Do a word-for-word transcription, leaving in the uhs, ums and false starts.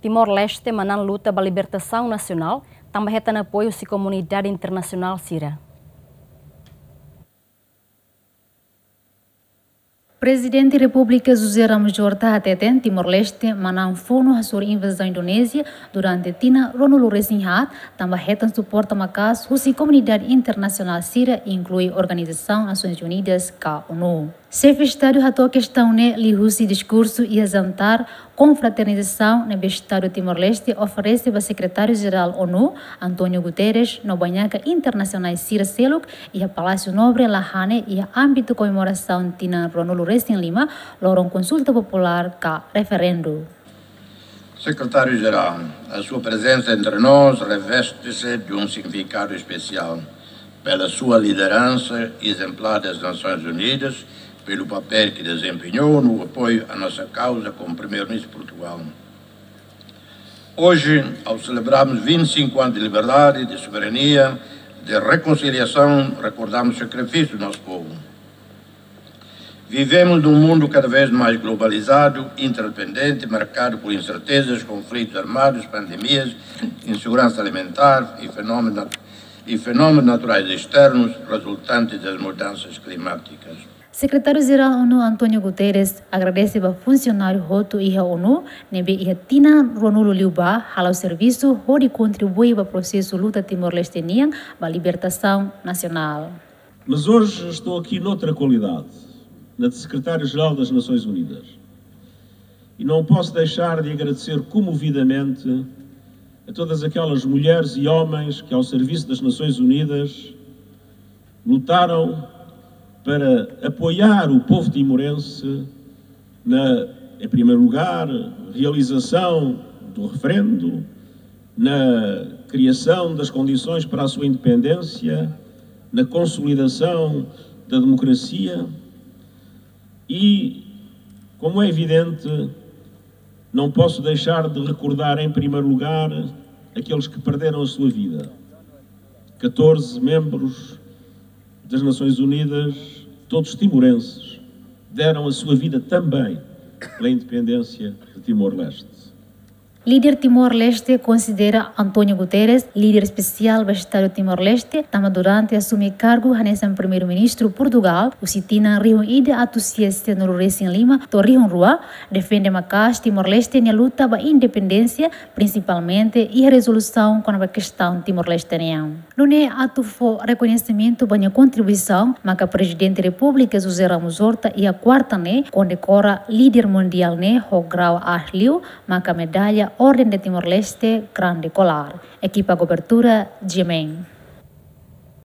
Timor-Leste manán luta ba libertasaun nasionál, tanba hetan apoiu husi komunidade internasionál sira. Prezidente Repúblika José Ramos Horta hateten Timor-Leste manán funu hasoru invazaun Indonézia durante tinan ruanulu-resin-haat, tanba hetan suporta maka'as husi komunidade internasionál sira, inklui Organizasaun Nasoins Unidas ka ONU. Xefe Estadu hato'o kestaun ne'e liuhusi diskursu iha jantar konfraternizasaun ne'ebé Estadu Timor-Leste oferese ba Sekretáriu-Jerál ONU, António Guterres, no bainaka internasionál sira seluk iha Palásiu Nobre, Lahane, iha ámbitu komemorasaun tinan ruanulu-resin-lima, loron konsulta populár ka referendu. Secretário-Geral, a sua presença entre nós reveste-se de um significado especial pela sua liderança exemplar das Nações Unidas, pelo papel que desempenhou no apoio à nossa causa como Primeiro-Ministro de Portugal. Hoje, ao celebrarmos vinte e cinco anos de liberdade, de soberania, de reconciliação, recordamos o sacrifício do nosso povo. Vivemos num mundo cada vez mais globalizado, interdependente, marcado por incertezas, conflitos armados, pandemias, insegurança alimentar e fenómenos nat-, e fenómenos naturais externos resultantes das mudanças climáticas. Sekretáriu-Jerál ONU António Guterres agradese ba funsionáriu hotu iha ONU ne'ebé iha tinan ruanulu liubá hala'o servisu hodi kontribui ba prosesu luta Timor-Leste nian ba libertasaun nasionál. Mas hoje estou aqui noutra qualidade, na de Secretário-Geral das Nações Unidas. E não posso deixar de agradecer comovidamente a todas aquelas mulheres e homens que, ao serviço das Nações Unidas, lutaram para apoiar o povo timorense na, em primeiro lugar, realização do referendo, na criação das condições para a sua independência, na consolidação da democracia e, como é evidente, não posso deixar de recordar, em primeiro lugar, aqueles que perderam a sua vida. Catorze membros das Nações Unidas, todos timorenses, deram a sua vida também pela independência de Timor-Leste. Líder Timor-Leste konsidera António Guterres líder espesiál ba Estadu Timor-Leste, tanba durante asume kargu hanesan Primeiru-Ministru Portugál, husi tinan rihun ida atus sia sianulu-resin-lima to'o rihun rua, defende maka'as Timor-Leste nia luta ba independénsia, prinsipalmente iha rezolusaun kona-ba kestaun Timor-Leste nian. Nune'e atu fó rekoñesimentu ba nia kontribuisaun, maka Prezidente Repúblika José Ramos Horta iha kuarta ne'e kondekora líder mundiál ne'e ho grau altu liu, maka medalla Orden de Timor-Leste Grande Collar. Ekipa kobertura, G M N.